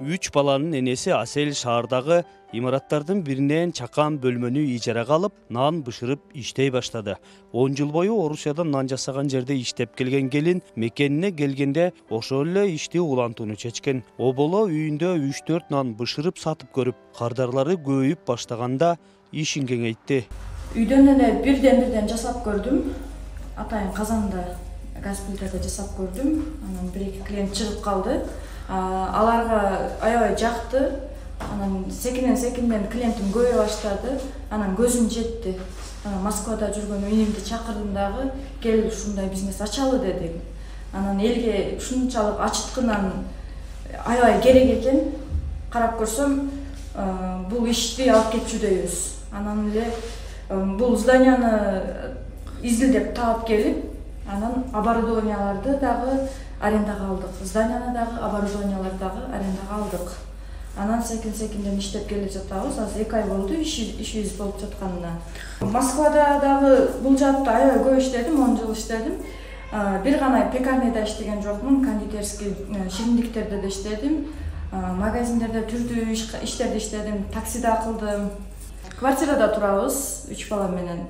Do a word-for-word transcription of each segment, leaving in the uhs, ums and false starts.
Үч баланын энеси Асел шаардагы имараттардын биринен чакан бөлмөнү ижарага алып, нан бышырып иштей баштады. он жыл бою Орусияда нан жасаган жерде иштеп келген келин мекенине келгенде ошол эле ишти улантууну чечкен. Оболо үйүндө үч төрт нан бышырып сатып көрүп, кардарлары көбөйүп баштаганда ишин кеңейтти. Үйдөн эле бирден-бирден жасап көрдүм. Атайын казанда, газ плитада жасап көрдүм. Анан бир-эки клиент чыгып калды. Аларга аябай жакты. Анан секинен секинден клиентим көбөйө баштады. Анан көзүм жетти. Анан Москвада жүргөн инимди чакырдым дагы, кел ушундай бизнес ачалы дедим. Анан элге ушунчалык ачыткынан аябай керек экен. Карап көрсөм, бул ишти алып кетчүдөйбүз. Анан эле бул зданияны изилдеп таап келип, анан оборудованияларды дагы арендага алдык. Зданияны дагы, оборудованияларды дагы арендага алдык. Анан секин-секинден иштеп келип жатабыз. Азыр эки ай болду ишибиз болуп жатканына. Москвада дагы бул жаатта аябай көп иштедим, он жыл иштедим. Бир гана пекарняда иштеген жокмун, кондитерский шириндиктерде да иштедим. Магазиндерде түрдүү иштерди иштедим, таксида кылдым. Квартирада турабыз, үч бала менен.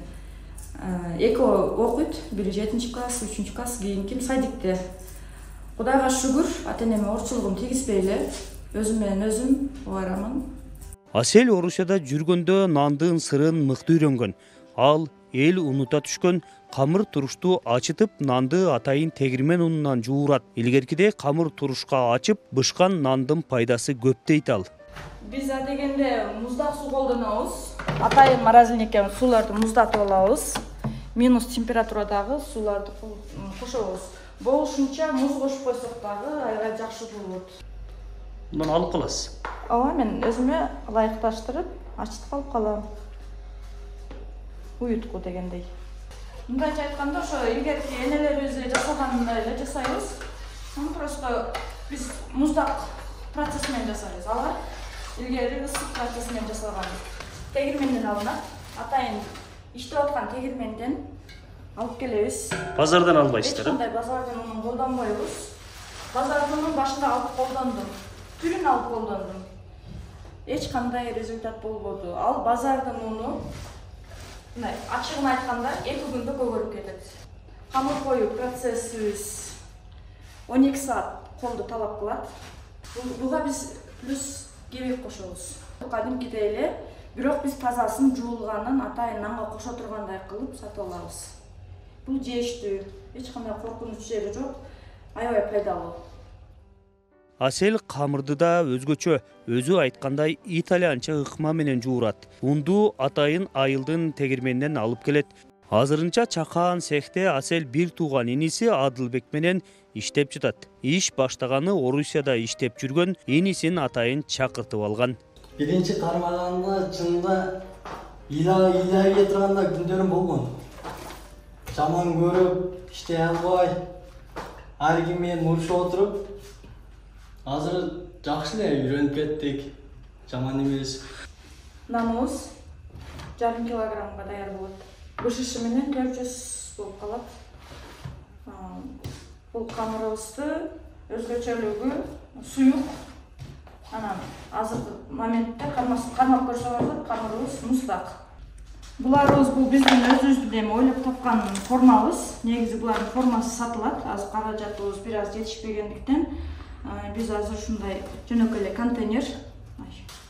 Экөө окуйт, бири жетинчи класс, үчүнчү класс, кийинки садикте. Кудайга шүгүр, ата-энеме орчулугум тийгизбей эле өзүм менен өзүм убайрамын. Асел Орусияда жүргөндө нандын сырын мыкты үйрөнгөн. Ал эл унута түшкөн камыр турушту ачытып, нанды атайын тегирмен унунан жуурат. Илгеркиде камыр турушка ачып, бышкан нандын пайдасы көп дейт ал. Биз адегенде муздак суу колдонобуз. Атайын морозильникке сууларды муздатып алабыз. Минус температурадагы сууларды кошобуз. Болушунча муз кошуп койсок дагы аябай жакшы болот. Муну алып каласыз? Ооба, мен өзүмө ылайыкташтырып, ачытып алып калам. Уютку дегендей. Мындайча айтканда, ошо илгерки энелерибиз жасаганындай эле жасайбыз. Аны просто биз муздак процесс менен жасайбыз. Алар илгери ысык процесс менен жасалган. Тегирменден алынат. Атайын иштеп аткан тегирменден алып келебиз. Базардан албайсыздар? Эч кандай базардан унун колдонбойбуз. Базардан унун башында алып колдондум. Түрүн алып колдондум. Эч кандай результат болбоду. Ал базардан уну, мындай ачыгын айтканда, эки күндө көгөрүп кетет. Камыр коюу процессибиз он эки саат колду талап кылат. Буга биз плюс кебек кошобуз. Кадимкидей эле, бирок биз тазасын жуулганын атайын нанга кошо тургандай кылып сатып алабыз. Бул жештүү, эч кандай коркунуч жери жок, аябай пайдалуу. Асел камырды да өзгөчө, өзү айткандай итальянча ыкма менен жуурат. Унду атайын айылдын тегирменинен алып келет. Азырынча чакан цехте Асел бир тууган иниси Адылбек менен иштеп жатат. Иш баштаганы Орусияда иштеп жүргөн инисин атайын чакыртып алган. Биринчи кармаганда чынында ыйлай турганда күндөрүм болгон. Жаман көрүп, иштей албай, ар ким менен урушуп отуруп, азыр жакшы эле үйрөнүп кеттик. Жаман эмес. Наныбыз жарым килограммга даяр болот. Бышышы менен төрт жүз болуп калат. Бул камырыбызды өзгөчөлүгү суюк. Анан азыркы моментте кармап көрсөңүздөр, камырыбыз муздак. Буларыбыз бул биздин өзүбүздүн эми ойлоп тапкан формабыз. Негизи булардын формасы сатылат. Азыр каражатыбыз бир аз жетишпегендиктен биз азыр ушундай жөнөкөй эле контейнер.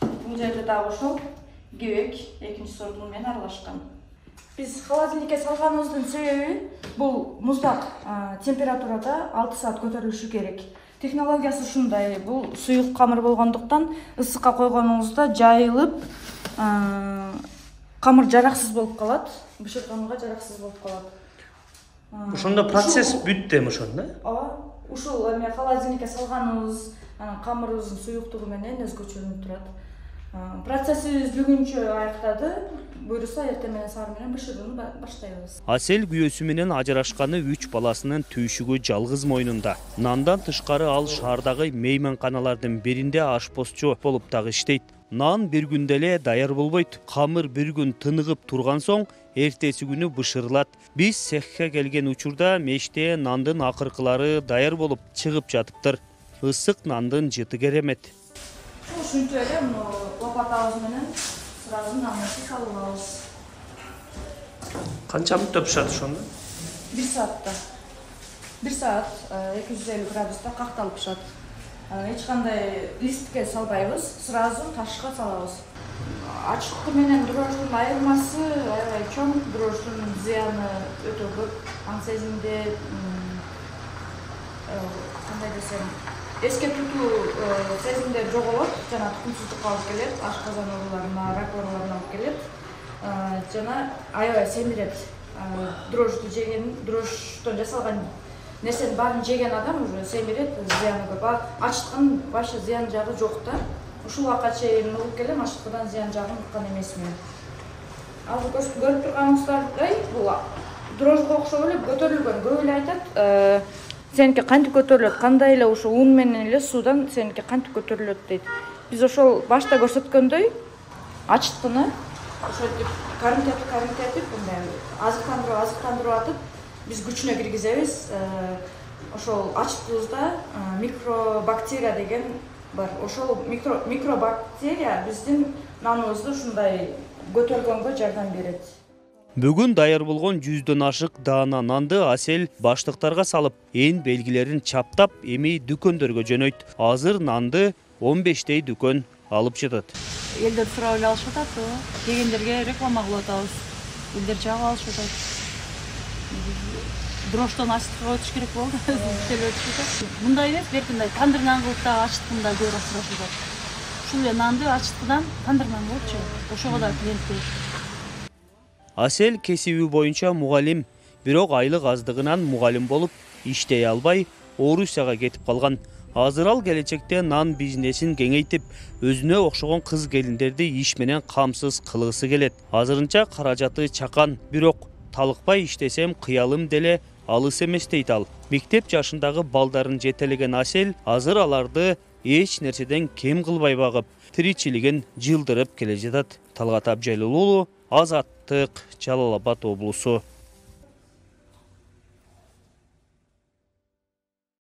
Бул жерде дагы ошол кебек экинчи сорту менен аралашкан. Биз холодильникке салганыбыздын себеби бул муздак температурада алты саат көтөрүлүшү керек. Технологиясы ушундай. Бул суюк камыр болгондуктан ысыкка койгонуңузда жайылып, камыр жараксыз болуп калат, бышырганга жараксыз болуп калат. Ошондо процесс бүттү эми ошондо? Ооба. Ушул эми холодильникке салганыбыз анан камырыбыздын суюктугу менен өзгөчөлөнүп турат. Процессибиз бүгүнчө аяктады. Буюрса эртең менен саар менен бышырууну баштайбыз. Асел күйөөсү менен ажырашканы үч баласынын түйшүгү жалгыз мойнунда. Нандан тышкары ал шаардагы мейманканалардын биринде ашпозчу болуп дагы иштейт. Нан бир күндө эле даяр болбойт. Камыр бир күн тыныгып турган соң эртеси күнү бышырылат. Биз цехке келген учурда меште нандын акыркылары даяр болуп чыгып жатыптыр. ысык нандын жыты керемет. Ушинтип эле муну лопатабыз менен сразу нанды салып алабыз. Канча мүнөттө пышат ошондо? бир саатта. бир саат эки жүз элүү градуста какталып пышат. Эч кандай листке салбайбыз, сразу ташка салабыз. Ачыктуу менен дрожждун айырмасы аябай чоң. Дрожждун зыяны өтө көп. Аң сезимде кандай десем, эске тутуу сезимдер жоголот, жана тукумсуздукка алып келет, ашказан ооруларына, рак ооруларына алып келет. Жана аябай семирет. Дрожжду жеген, дрожждон жасалган нерсенин баарын жеген адам уже семирет, зыяны көп. Ачыткан вообще зыян жагы жок да. Ушул убакка чейин угуп келем, ачыткадан зыян жагын уккан эмесмин. Ал көрүп турганыңыздардай, бул дрожжго окшоп эле көтөрүлгөн. Көп эле айтат, сеники кантип көтөрүлөт, кандай эле ушу ун менен эле суудан сеники кантип көтөрүлөт дейт. Биз ошол башта көрсөткөндөй ачыткыны ошентип карымтетип карымтетип мындай азыктандырып азыктандырып атып биз күчүнө киргизебиз. Ошол ачыктуубузда микробактерия деген бар. Ошол микро микробактерия биздин наныбызды ушундай көтөргөнгө жардам берет. Бүгүн даяр болгон жүздөн ашык даана нанды Асель баштыктарга салып, эн белгилерин чаптап, эми дүкөндөргө жөнөйт. Азыр нанды он бештей дүкөн алып жатат. Элдер сурап эле алышып атат, дегендерге реклама кылып атабыз. Элдер жагып алышып атат. Дрожждон ачыткыга өтүш керек болду. Өтүп атат. Мындай эмес, беркиндай тандыр нан кылып да ачыткында көбүрөөк сурашып атат. Ушул эле нанды ачыткыдан тандыр нан кылыпчы. Ошого да клиент көп. Асель кесиби боюнча мугалим, бирок айлык аздыгынан мугалим болуп иштей албай, Орусияга кетип калган. Азыр ал келечекте нан бизнесин кеңейтип, өзүнө окшогон кыз келиндерди иш менен камсыз кылгысы келет. Азырынча каражаты чакан, бирок талыкпай иштесем кыялым деле алыс эмес дейт ал. Мектеп жашындагы балдарын жетелеген Асель азыр аларды эч нерседен кем кылбай багып, тиричилигин жылдырып келе жатат. Талгат Абжайлуулу, Азаттык, Жалал Абад облусу.